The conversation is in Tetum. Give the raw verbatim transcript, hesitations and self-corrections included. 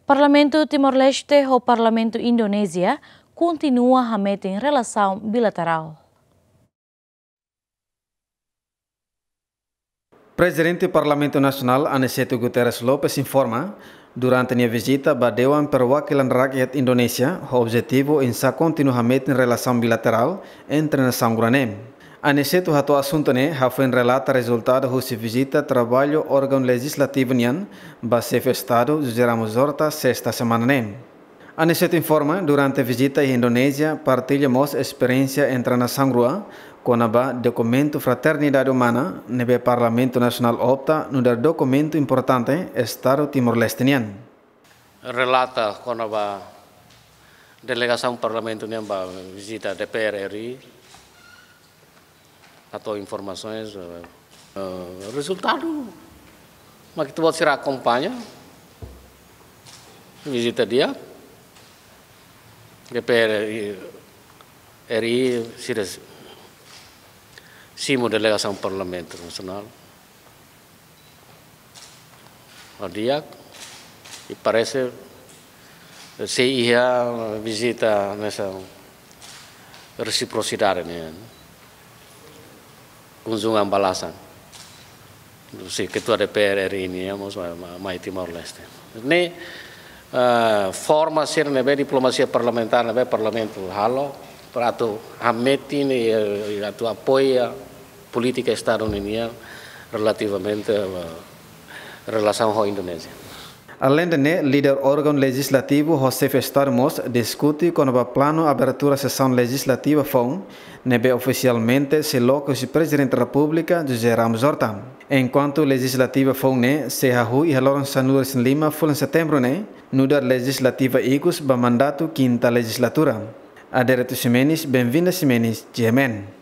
Parlamentu Timor-Leste ho Parlamentu Indonézia kontinua hametin relasaun bilaterál. Prezidente Parlamentu Nasionál Aniceto Guterres Lopes informa, durante nia vizita ba Dewan Perwakilan Rakyat Indonézia, ho objetivu oinsá kontinua hametin relasaun bilaterál entre nasaun rua ne'e. Aniceto hato'o asuntu ne'e hafoin relata rezultadu husi vizita traballu órgaun lejislativu nian ba Xefe Estadu José Ramos Horta sesta semana ne'e. Aniceto informa, durante vizita iha Indonézia, partilla mós esperiénsia entre nasaun rua, kona-ba dokumentu fraternidade umana, ne'ebé Parlamentu Nasionál opta nu'udar dokumentu importante Estadu Timor-Leste nian. Relata kona-ba delegasaun Parlamentu nian ba vizita D P R R I, hato'o informasoens, eh, eh, rezultadu, mak ita-boot sira akompaña vizita di'ak, D P R R I sira simu delegasaun Parlamentu Nasionál. Di'ak, i parese sei iha vizita hanesan resiprosidade nian, kunjungan balasan. Husi Ketua D P R R I nian mós mai, mai, mai Timor-Leste. Ne'e, eh, forma sira ne'ebé diplomasia parlamentár ne'ebé Parlamentu halo, para atu hametin, eh, atu apoia polítika Estadu nian relativamente, eh, relasaun ho Indonézia. Aleinde ne'e, líder órgaun lejislativu ho Xefe Estadu mós diskute kona-ba planu abertura sesaun lejislativa foun, ne'ebé ofisialmente sei loke husi Prezidente Repúblika José Ramos Horta. Enkuantu lejislativa foun ne'e sei hahú iha loron sanulu-resin-lima fulan Setembru ne'e, nu'udar lejislativa ikus ba mandatu kinta lejislatura. Adérito Ximenes, Benvinda Ximenes, G M N.